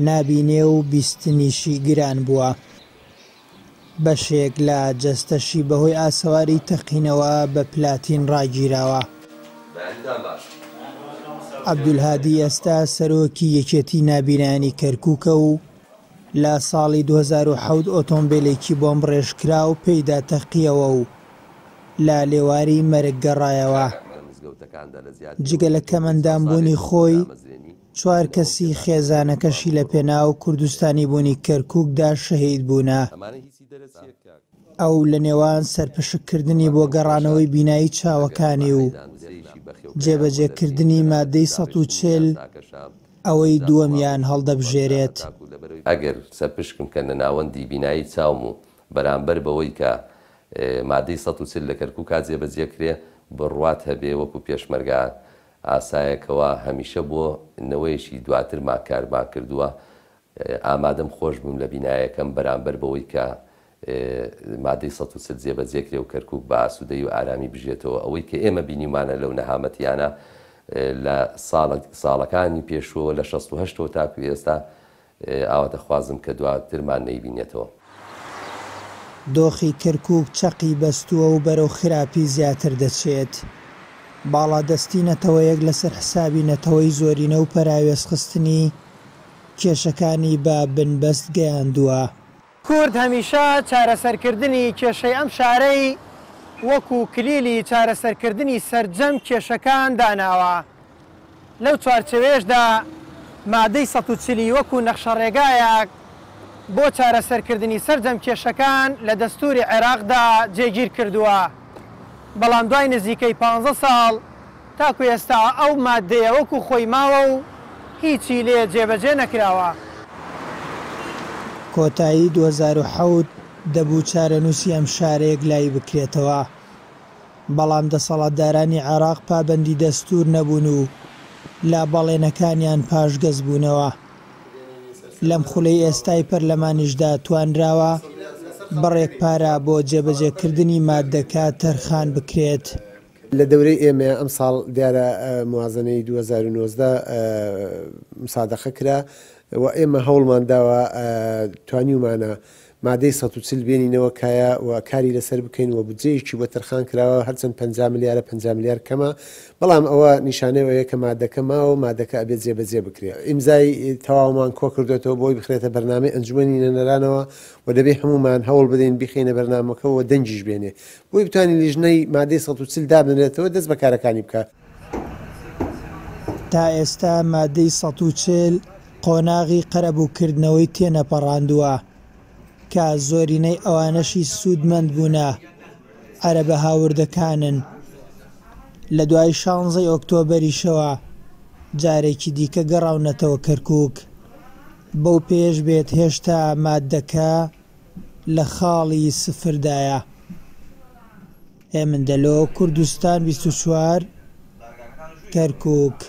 نابینێ و بیستنیشی گران بووە. بەشێک لە جەستەشی بەهۆی ئاسەواری تەقینەوە بە پلاتین ڕاگیراوە. عەبدولهادی ئێستا سەرۆکی یەکێتی نابینایانی کەرکوکە و لە ساڵی 2007 ئۆتۆمبێلێکی بۆمبڕێژکراو پێیدا تەقییەوە و لە لێواری مەرگ گەڕایەوە. جگە لە کەمئەندامبوونی خۆی، چوار کەسی خێزانەکەشی لە پێناو کوردستانیبوونی کەرکوکدا شەهید بوونە. ئەو لە نێوان سەرپشککردنی بۆ گەڕانەوەی بینایی چاوەکانی و جێبەجێکردنی مادەی 140، ئەوەی دووەمیان هەڵدەبژێرێت. ئەگەر سەرپشکم کەن لە ناوەندی بینایی چاوم و بەرامبەر بەوەی کە مادەی 140 لە کەرکوکا جێبەجێ کرێ، بڕوات هەبێ وەکو پێشمەرگە ئاسایەکەوە هەمیشە بۆ نەوەیەکی دواترمان کارمان کردووە، ئامادەم خۆش بم لە بینایەکەم بەرامبەر بەوەی کە مادەی 140 جێبەجێ کرێ و کەرکوک بە ئاسوودەیی و ئارامی بژێتەوە، ئەوەی کە ئێمە بینیومانە لەو نەهامەتیانە لە ساڵەکانی پێشووەوە لە 68 ەوە تاکو ئێستا ئاواتەخوازم کە دواترمان نەیبینێتەوە. دۆخی کەرکوک چەقی بەستووە و بەرەو خراپی زیاتر دەچێت. باڵادەستی نەتەوەیەک لەسەر حسابی نەتەوەی زۆرینە و پەراوێزخستنی کێشەکانی بە بنبەست گەیاندووە. کورد هەمیشە چارەسەرکردنی کێشەی ئەم شارەی وەکو کلیلی چارەسەرکردنی سەرجەم کێشەکان داناوە. لەو چوارچێوەیەشدا مادەی 140 ی وەکو نەخشەڕێگایەک بۆ چارەسەرکردنی سەرجەم کێشەکان لە دەستووری عێراقدا جێگیر کردووە، بەڵام دوای نزیکەی پانزە ساڵ تاکو ئێستا ئەو ماددەیە وەکو خۆی ماوە و هیچی لێ جێبەجێ نەکراوە. کۆتایی 2007 دەبوو چارەنووسی ئەم شارە یەکلایی بکرێتەوە، بەڵام دەسەڵاتدارانی عێراق پابەندی دەستوور نەبوون و لە بەڵێنەکانیان پاشگەز بوونەوە. لەم خولەی ئێستای پەرلەمانیشدا توانراوە بڕێک پارە بۆ جێبەجێکردنی ماددەکە تەرخان بکرێت. لە دەورەی ئێمەیا ئەمساڵ دیارە موازەنەی 2019 مسادەقە کرا و ئێمە هەوڵمان داوە توانیومانە مادەی 140 بێنینەوە کایە و کاری لەسەر بکەین و بودجەیەکی بۆ تەرخان کراوە هەرچەند 50 ملیارە 50 ملیار کەمە بەڵام ئەوە نیشانەی ئەوەیە کە مادەکە ماوە و مادەکە ئەبێت جێبەجێ بکرێت ئیمزای تەواومان کۆکردۆتەوە بۆی بخرێتە بەرنامەی ئەنجومەنی نوێنەرانەوە و دەبێ هەموومان هەوڵ بدەین بیخەینە بەرنامەکەوە و دەنگیش بێنێ بۆی بتوانین لیژنەی مادەی 140 دابنرێتەوە دەست بە کارەکانی بکا. تا ئێستا مادەی 140 قۆناغی قەرەبووکردنەوەی تێنەپەڕاندووە، کە زۆرینەی ئەوانەشی سوودمەند بوونە عەرەبە هاوردەکانن. لە دوای شانزەی ئۆکتۆبەریشەوە جارێکی دیکە گەڕاونەتەوە کەرکووک. بەو پێیەش بێت هێشتا ماددەکە لە خاڵی سفردایە. هێمن دەلۆ، کوردستان 24، کەرکووک.